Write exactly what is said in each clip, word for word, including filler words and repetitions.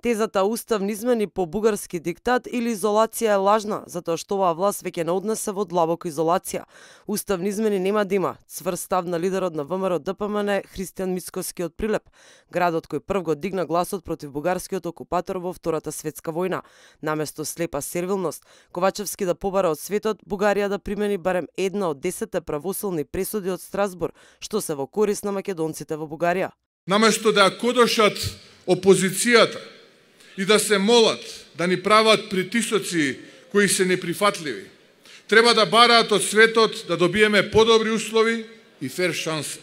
Тезата уставни измени по бугарски диктат или изолација е лажна, затоа што оваа власт веќе не однесе во длабока изолација. Уставни измени нема да има, цврст став на лидерот на ВМРО Д П М Н Христијан Мицкоски од Прилеп, градот кој прв го дигна гласот против бугарскиот окупатор во Втората светска војна. Наместо слепа сервилност, Ковачевски да побара од светот Бугарија да примени барем една од десетте правосилни пресуди од Страсбур, што се во корист на македонците во Бугарија. Наместо да ја кодошат опозицијата и да се молат да ни прават притисоци кои се неприфатливи, треба да бараат од светот да добиеме подобри услови и фер шанса.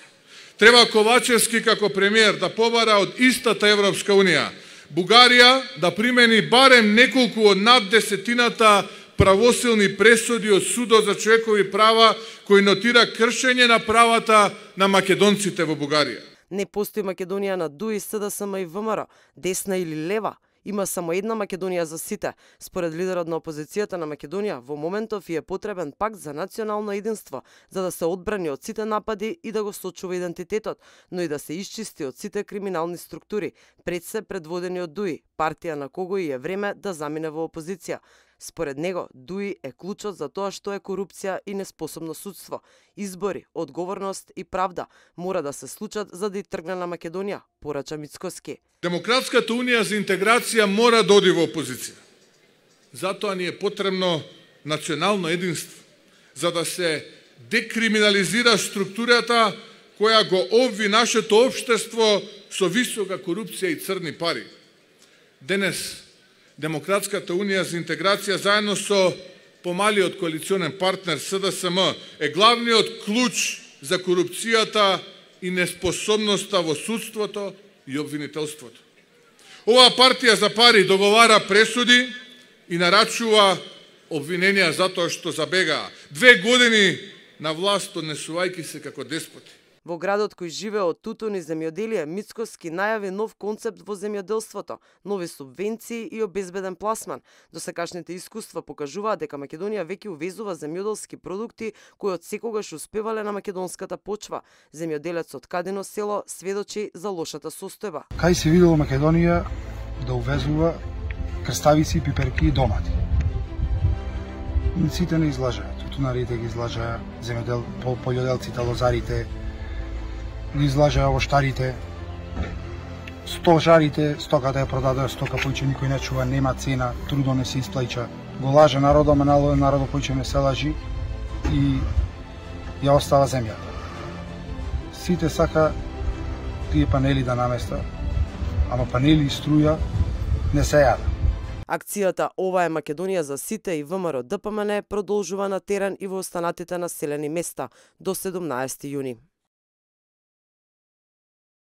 Треба Ковачевски како премиер да побара од истата Европска Унија Бугарија да примени барем неколку од над десетината правосилни пресуди од Судот за човекови права кои нотира кршење на правата на македонците во Бугарија. Не постои Македонија на ДУИ, С Д С М и В М Р, десна или лева. Има само една Македонија за сите. Според лидерот на опозицијата на Македонија, во моментов и е потребен пакт за национално единство, за да се одбрани од сите напади и да го сочува идентитетот, но и да се исчисти од сите криминални структури, пред се предводени од ДУИ, партија на кого и е време да замине во опозиција. Според него, ДУИ е клучот за тоа што е корупција и неспособно судство. Избори, одговорност и правда мора да се случат за да и тргне на Македонија, порача Мицкоски. Демократската унија за интеграција мора да оди во опозиција. Затоа ни е потребно национално единство, за да се декриминализира структурата која го обви нашето општество со висока корупција и црни пари. Денес Демократската унија за интеграција заедно со помалиот коалиционен партнер С Д С М е главниот клуч за корупцијата и неспособноста во судството и обвинителството. Оваа партија за пари договара пресуди и нарачува обвиненија затоа што забегаа две години на власт однесувајќи се како деспоти. Во градот кој живее од тутун и земјоделие, Мицкоски најави нов концепт во земјоделството, нови субвенции и обезбеден пласман. Досекашните искуства покажуваат дека Македонија веќе увезува земјоделски продукти кои од секогаш успевале на македонската почва. Земјоделецот Кадино село сведочи за лошата состојба. Кај се видело Македонија да увезува крставици, пиперки и домати. Сите не излажаат, тутунарите ги излажаат, земјодел, полјоделците, лозарите, ги излажаат овоштарите, стожарите, стоката ја продадоа, стока појче никој не чува, нема цена, трудо не се исплаќа. Го лаже народот, ама народот појче не се лажи и ја остава земја. Сите сака тие панели да наместа, ама панели и струја не се јада. Акцијата Ова е Македонија за сите и В М Р Д П М Н продолжува на терен и во останатите населени места до седумнаесети јуни.